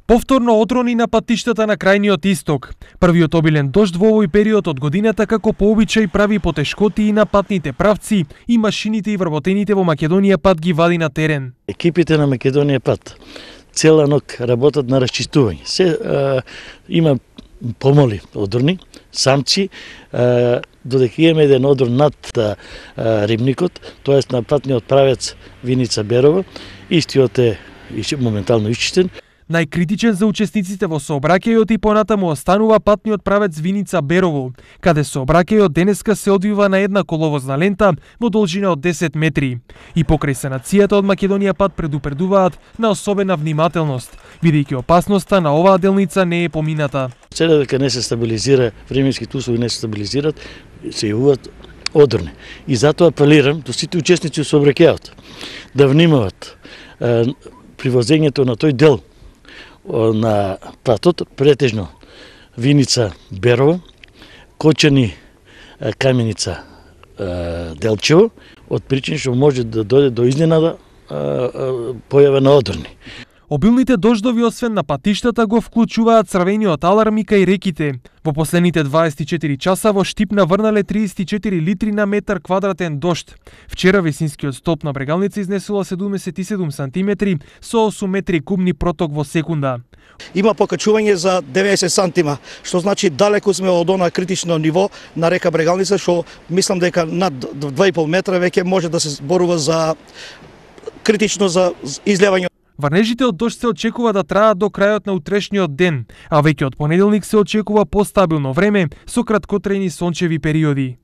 Повторно отрони на патиштата на крајниот исток. Првиот обилен дожд во овој период од годината како по обичај прави потешкоти и на патните правци и машините и вработените во Македонија пат ги вади на терен. Екипите на Македонија пат цела ног работат на расчистување. Има помоли одрни, самци, додека имаме еден одрон над рибникот, тоест на патниот правец Виница Берово, истиот е моментално исчистен. Најкритичен за учесниците во сообраќајот и понатаму останува патниот правец Виница Берово, каде сообраќајот денеска се одвива на една коловозна лента во должина од 10 метри. И покрај санацијата од Македонија пат предупредуваат на особена внимателност, бидејќи опасноста на оваа делница не е помината. Сега дека не се стабилизира, временските услови не се стабилизираат, се јавуваат одрни. И затоа апелирам до сите учесници во сообраќајот да внимават при возењето на тој дел на патот, претежно Виница Берово, Кочани Каменица Делчево, од причини што може да дојде до изненада појава на одрни. Обилните дождови освен на патиштата го вклучуваат црвениот аларм и кај реките. Во последните 24 часа во Штипна врнале 34 литри на метар квадратен дожд. Вчера висинскиот столб на Брегалница изнесува 77 сантиметри со 8 метри кубни проток во секунда. Има покачување за 90 сантима, што значи далеку сме од она критично ниво на река Брегалница, што мислам дека над 2,5 метра веќе може да се зборува за критично за излевање. Врнежите од дожд се очекува да траат до крајот на утрешниот ден, а веќе од понеделник се очекува постабилно време со краткотрајни сончеви периоди.